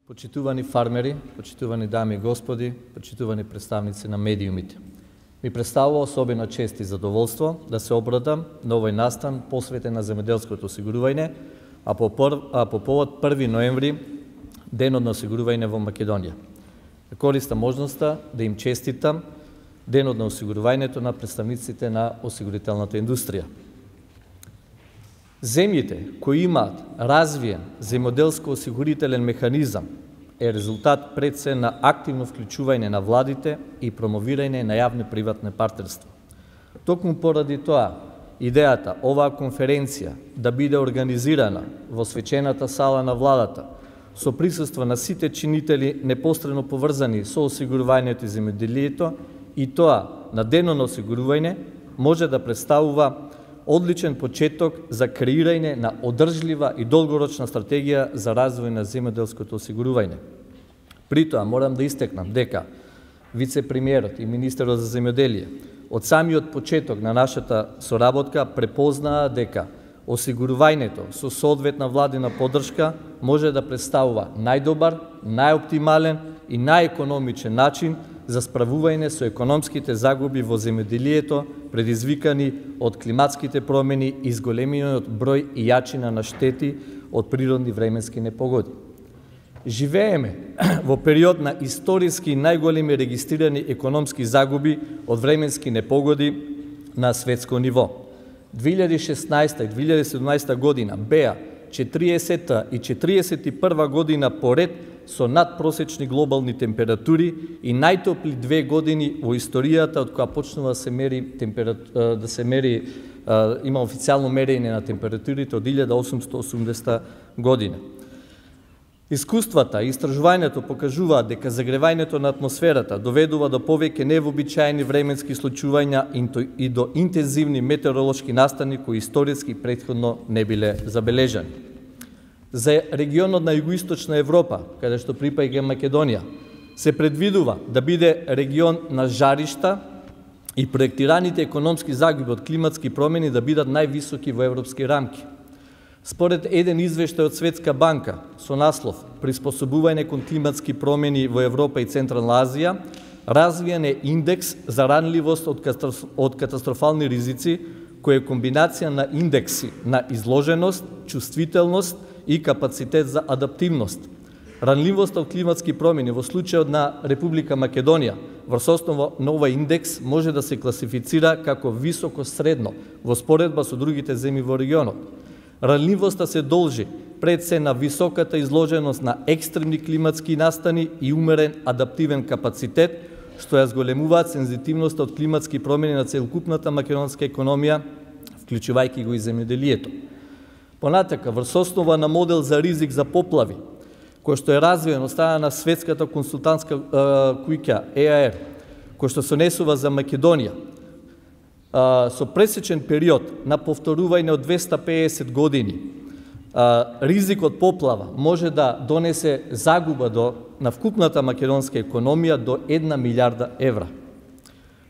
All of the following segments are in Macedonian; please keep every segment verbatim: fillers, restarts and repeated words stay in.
Почитувани фармери, почитувани дами и господи, почитувани представници на медиумите. Ми представува особена чест и задоволство да се обрадам на овој настан посветен на земјоделското осигурување, а по, пр... а по повод први ноември, денот на осигурување во Македонија. Користам можноста да им честитам денот на осигурувањето на представниците на осигурителната индустрија. Земјите кои имаат развиен земјоделско осигурителен механизам е резултат пред се на активно вклучување на владите и промовирање на јавно-приватно партнерство. Токму поради тоа, идејата оваа конференција да биде организирана во свечената сала на владата со присуство на сите чинители непосредно поврзани со осигурувањето и земјоделието и тоа на денот на осигурување може да представува одличен почеток за креирање на одржлива и долгорочна стратегија за развој на земјоделското осигурување. При тоа морам да истекнам дека вице-премиерот и министерот за земјоделие од самиот почеток на нашата соработка препознаа дека осигурувањето со соодветна владина поддршка може да представува најдобар, најоптимален и најекономичен начин за справување со економските загуби во земјоделието предизвикани од климатските промени и зголемениот број и јачина на штети од природни временски непогоди. Живееме во период на историски најголеми регистрирани економски загуби од временски непогоди на светско ниво. две илјади и шеснаесета и две илјади и седумнаесета година беа четириесетта и четириесет и прва година поред со надпросечни глобални температури и најтопли две години во историјата од која почнува да се мери температура, да се мери има официјално мерење на температурите од илјада осумстотини и осумдесета година. Искуствата и истражувањето покажуваат дека загревањето на атмосферата доведува до повеќе невообичаени временски случувања и до интензивни метеоролошки настани кои историски претходно не биле забележани. За регионот на југоисточна Европа, каде што припаѓа Македонија, се предвидува да биде регион на жаришта и проектираните економски загуби од климатски промени да бидат највисоки во европски рамки. Според еден извештај од Светска банка со наслов «Приспособување кон климатски промени во Европа и Централна Азија», развиен е индекс за ранливост од катастрофални ризици, кој е комбинација на индекси на изложеност, чувствителност и капацитет за адаптивност. Ранливоста од климатски промени во случајот на Република Македонија врз основа на овој индекс може да се класифицира како високо средно во споредба со другите земји во регионот. Ранливоста се должи пред се на високата изложеност на екстремни климатски настани и умерен адаптивен капацитет, што ја зголемуваат сензитивноста од климатски промени на целокупната македонска економија, вклучувајќи го и земјоделието. Понатака, врз основа на модел за ризик за поплави, кој што е развиен од страна на светската консултантска куќа Е А Ер, кој што се несува за Македонија, со пресечен период на повторување од двеста педесет години, ризик од поплава може да донесе загуба до, на вкупната македонска економија до една милиарда евра.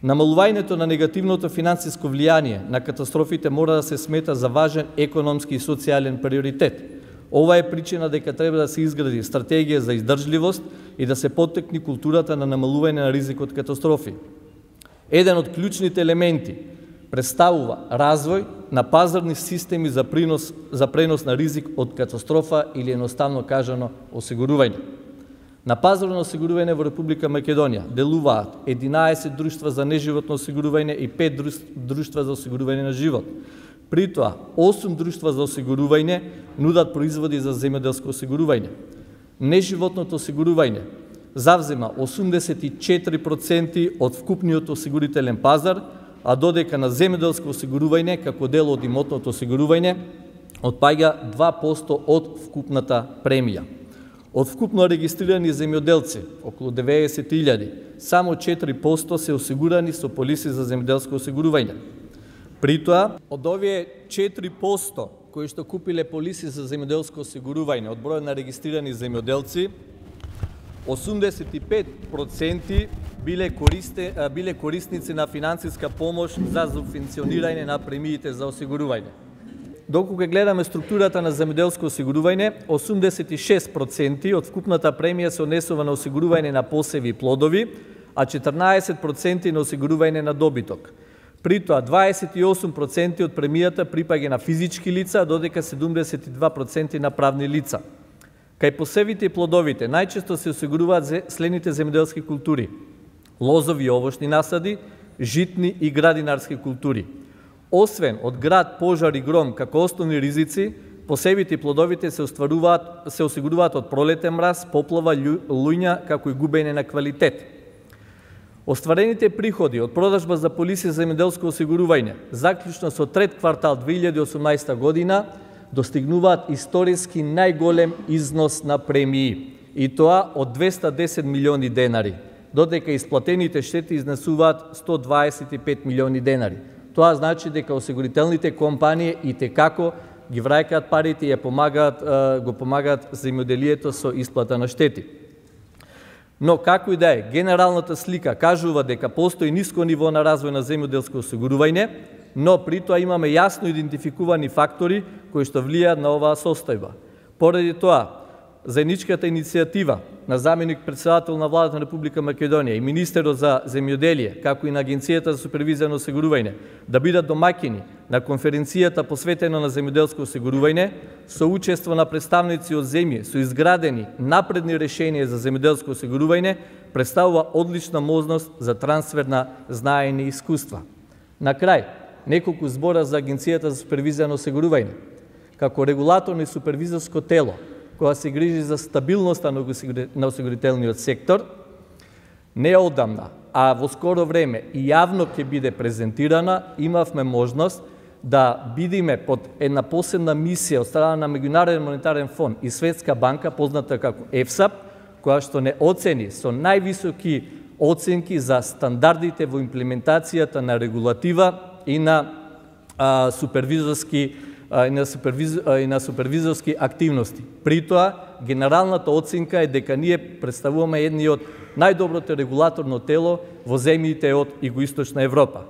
Намалувањето на негативното финансиско влијание на катастрофите мора да се смета за важен економски и социјален приоритет. Ова е причина дека треба да се изгради стратегија за издржливост и да се поттикне културата на намалување на ризик од катастрофи. Еден од клучните елементи представува развој на пазарни системи за принос, за пренос на ризик од катастрофа или едноставно кажано осигурување. На пазарот на осигурување во Република Македонија делуваат единаесет друштва за неживотно осигурување и пет друштва за осигурување на живот. При тоа, осум друштва за осигурување нудат производи за земјоделско осигурување. Неживотното осигурување завзема осумдесет и четири проценти од вкупниот осигурителен пазар, а додека на земјоделско осигурување како дел од имотното осигурување отпаѓа два проценти од вкупната премија. Од вкупно регистрирани земјоделци, околу деветдесет илјади, само четири проценти се осигурани со полиси за земјоделско осигурување. При тоа, од овие четири проценти кои што купиле полиси за земјоделско осигурување од бројот на регистрирани земјоделци, осумдесет и пет проценти биле, користе, биле корисници на финансиска помош за субвенционирање на премиите за осигурување. Докога гледаме структурата на земјоделско осигурување, осумдесет и шест проценти од вкупната премија се однесува на осигурување на посеви и плодови, а четрнаесет проценти на осигурување на добиток. При тоа дваесет и осум проценти од премијата припаѓа на физички лица, додека седумдесет и два проценти на правни лица. Кај посевите и плодовите најчесто се осигуруваат следните земјоделски култури: лозови и овошни насади, житни и градинарски култури. Освен од град, пожар и гром како основни ризици, посевите и плодовите се остваруваат се осигуруваат од пролетен мраз, поплава, луѓа, како и губење на квалитет. Остварените приходи од продажба за полиси за земјоделско осигурување, заклучно со трет квартал две илјади и осумнаесета година, достигнуваат историски најголем износ на премии, и тоа од двеста десет милиони денари, додека исплатените штети изнесуваат сто дваесет и пет милиони денари. Тоа значи дека осигурителните компании и текако ги враќаат парите и ја помагаат, го помагаат земјоделието со исплата на штети. Но како и да е, генералната слика кажува дека постои ниско ниво на развој на земјоделско осигурување, но при тоа имаме јасно идентификувани фактори кои што влијаат на оваа состојба. Поради тоа, заедничката иницијатива на заменик председател на владата на Република Македонија и министерот за земјоделие, како и на Агенцијата за супервизија на осигурување, да бидат домаќини на конференцијата посветена на земјоделско осигурување, со учество на представници од земји со изградени напредни решенија за земјоделско осигурување, представува одлична можност за трансфер на знаење и искуства. На крај, неколку збора за Агенцијата за супервизија на осигурување. Како регулаторно и супервизорско тело, која се грижи за стабилноста на осигурителниот сектор, не одамна, а во скоро време и јавно ќе биде презентирана, имавме можност да бидиме под една посебна мисија од страна на Меѓународен монетарен фонд и Светска банка, позната како ЕФСАП, која што не оцени со највисоки оценки за стандардите во имплементацијата на регулатива и на а, супервизорски и на, супервиз... и на супервизорски активности. При тоа, генералната оценка е дека ние представуваме едни од најдоброто регулаторно тело во земјите од Југоисточна Европа.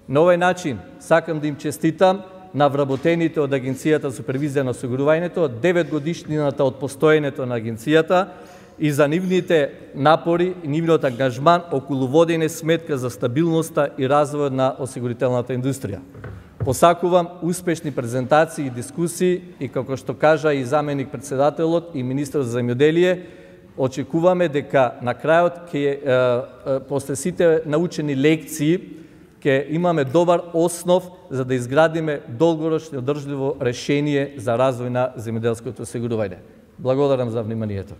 На овој начин сакам да им честитам на вработените од Агенцијата за супервизија на осигурувањето, девет годишнината од постоењето на агенцијата и за нивните напори и нивниот ангажман околу водење сметка за стабилноста и развојот на осигурителната индустрија. Посакувам успешни презентации и дискусии и, како што кажа и заменик председателот и министерот за земјоделие, очекуваме дека на крајот ќе после сите научени лекции ќе имаме добар основ за да изградиме долгорочно одржливо решение за развој на земјоделското осигурување. Благодарам за вниманието.